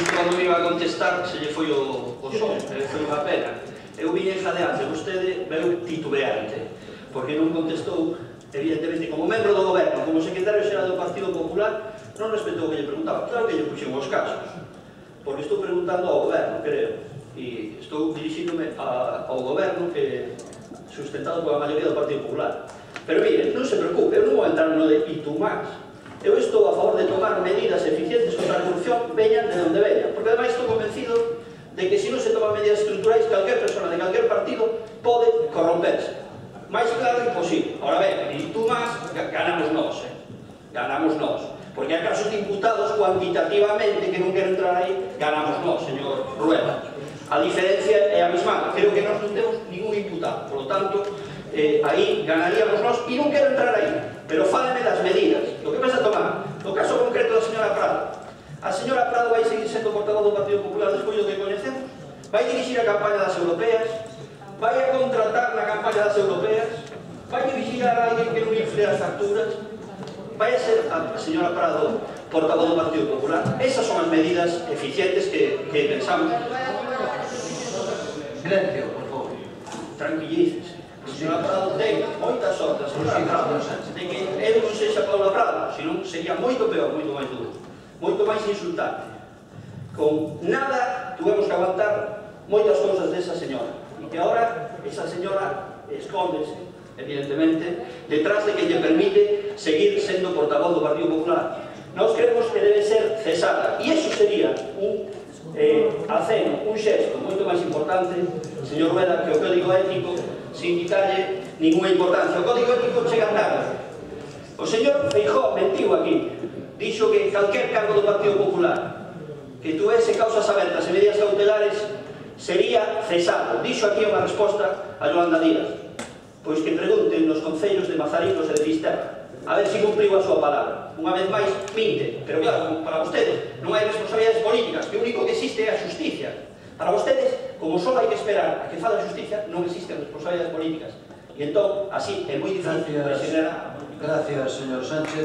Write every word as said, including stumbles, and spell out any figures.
cando me iba a contestar se lle foi o, o son, e foi unha pena. Eu vine jadeante, vostede veu titubeante, porque non contestou, evidentemente, como membro do goberno, como secretario xeral do Partido Popular, non respetou o que lle preguntaba. Claro que lle puxen os casos, porque estou preguntando ao goberno, creo, e estou dirixíndome a, ao goberno que sustentado pola maioría do Partido Popular. Pero mire, non se preocupe, eu non vou entrar no de itu máis. Eu estou a favor de tomar medidas eficientes contra a corrupción, veñan de onde veñan, porque ademais estou convencido de que se non se toman medidas estruturais, calquer persona de calquer partido pode corromperse. Mais claro imposible. Ahora ben, e tú máis, ganamos nós, eh? ganamos nós. Porque hai casos de imputados cuantitativamente que non quero entrar aí, ganamos nós, señor Rueda. A diferencia é a mesma, creo que nós non temos ningún imputado, por lo tanto, eh, aí ganaríamos nós, e non quero entrar aí, pero fáleme das medidas. O que pensa tomar? No caso concreto da señora Prado, a señora Prado vai seguir sendo portavoz do Partido Popular despois do que coñecemos? Vai dirixir a campaña das europeas? Vai a contratar na campaña das europeas? Vai dirigir a alguén que non infle as facturas? Vai a ser a señora Prado portavoz do Partido Popular? Esas son as medidas eficientes que, que pensamos. Silencio, por favor. Tranquilícese. A señora Prado ten moita sorte, a señora Prado, de que eu non sexa Paula Prado, senón sería moito peor, moito máis duro, moito máis insultante. Con nada tuvemos que aguantar moitas cousas desa señora, e que agora esa señora escóndese, evidentemente, detrás de que lle permite seguir sendo portavoz do Partido Popular. Nós creemos que debe ser cesada, e iso sería un eh, aceno, un xesto moito máis importante, señor Rueda, que o código ético, sin quitarlle ninguna importancia. O código ético chega tarde. O señor Feijóo mentiu aquí, dixo que calquer cargo do Partido Popular que tuese causas abertas e medidas cautelares sería cesado. Dixo aquí unha resposta a Yolanda Díaz. Pois que pregunten nos concellos de Mazaricos e de Fisterra, a ver se cumpriu a súa palabra. Unha vez máis, minte. Pero claro, para vostedes non hai responsabilidades políticas, que o único que existe é a justicia. Para vostedes, como só hai que esperar a que fala a justicia, non existen responsabilidades políticas. E entón, así, é moi difícil presionar. Gracias, señor Sánchez.